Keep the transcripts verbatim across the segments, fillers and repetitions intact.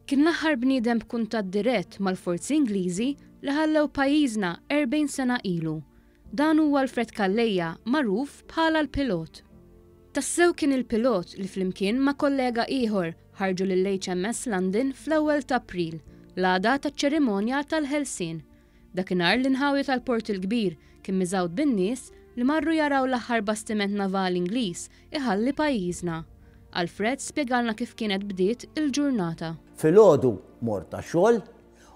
Kien l-aħħar bniedem b'kuntatt dirett mal-forzi Ingliżi li ħallew pajjiżna erbgħin sena ilu. Dan huwa Alfred Calleja, magħruf bħala l-pilot. Tassew kien il-pilot li flimkien ma' kollega ieħor ħarġu lill-H M S London fl-ewwel ta' April, l-għada taċ-ċerimonja tal-Ħelsien. Dakinhar l-inħawi tal-Port il-Kbir kien miżgħud bin-nies li marru jaraw l-aħħar bastiment navali Ingliż iħalli pajjiżna. Alfred spjegalna kif kienet bdiet il-ġurnata. Filgħodu mort tax-xogħol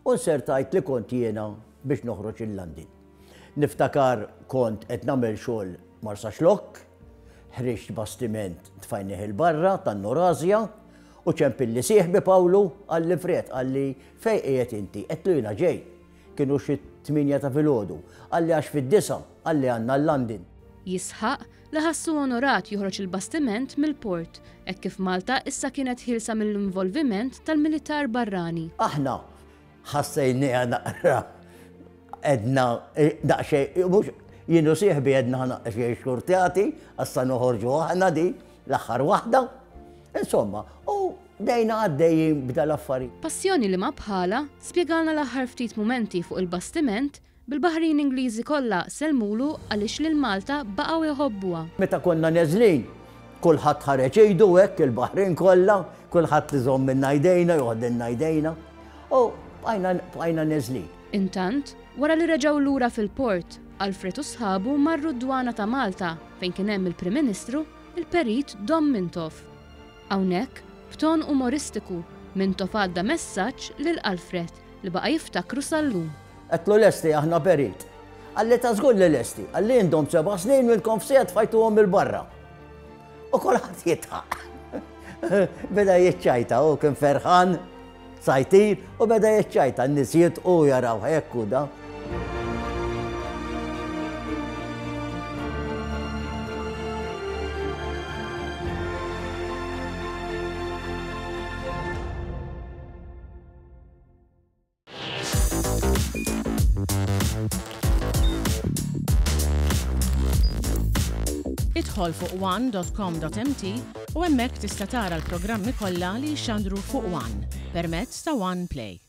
u nsertajt li kont jiena biex noħroġ il-London. Niftakar kont qed nagħmel xogħol Marsaxlokk, ħriġt bastiment tfajnieh il-barra tan-Norasja u ċempilli sieħbi Pawlu, qalli, "Fred," qalli, "fejn qiegħed inti?" Għedtlu, "jiena ġej." Kienu xi tmienja ta' filgħodu. Qalli, "Għax fid-disgħa," qalli, "għandna l-London." Jisħaq li ħassu onorat joħroġ il-bastiment mill-port, hekk kif Malta issa kienet ħielsa mill-involviment tal-militar barrani. Aħna ħassejniha naqra, għedna daqsxejn, mhux jien u sieħbi, għedna daqsxejn xurtjati, issa noħorġu aħna di l-aħħar waħda. Insomma, u bdejna għaddejjin b'dal-affarijiet. Passjoni li ma bħala, spjegalna l-aħħar ftit mumenti fuq il-bastiment bil-baħrin Ingliżi kollha selmulu għaliex lil Malta baqgħu jħobbuha. Meta konna neżlin, kulħadd ħareġ idu hekk, il-baħrin kollha, kulħadd iżommilna jdejna, joħdilna jdejna. U bqajna neżlin. Intant, wara li reġgħu lura fil-port, Alfred u sħabu marru d-dwana ta' Malta fejn kien hemm il-Prim Ministru, il-Perit Dom Mintoff. Hawnhekk, b'ton umoristiku, Mintoff għadda messaġġ lil Alfred li baqa' jiftakru sal-lum. Għedtlu, "Lesti aħna, Perit." Qalli, "Ta' żgur li lesti." Qalli, "Intom seba' snin ilkom f'siegħa tfajtuhom il-barra." U kulħadd jidħaq. Beda jiċċajta, u kien ferħan, sajtir, u beda jiċċajta, n-nies u jaraw hekk u da. Idħol fuq one dot com dot M T u hemmhekk tista' tara l-programmi kollha li jxandru fuq One permezz ta' One Play.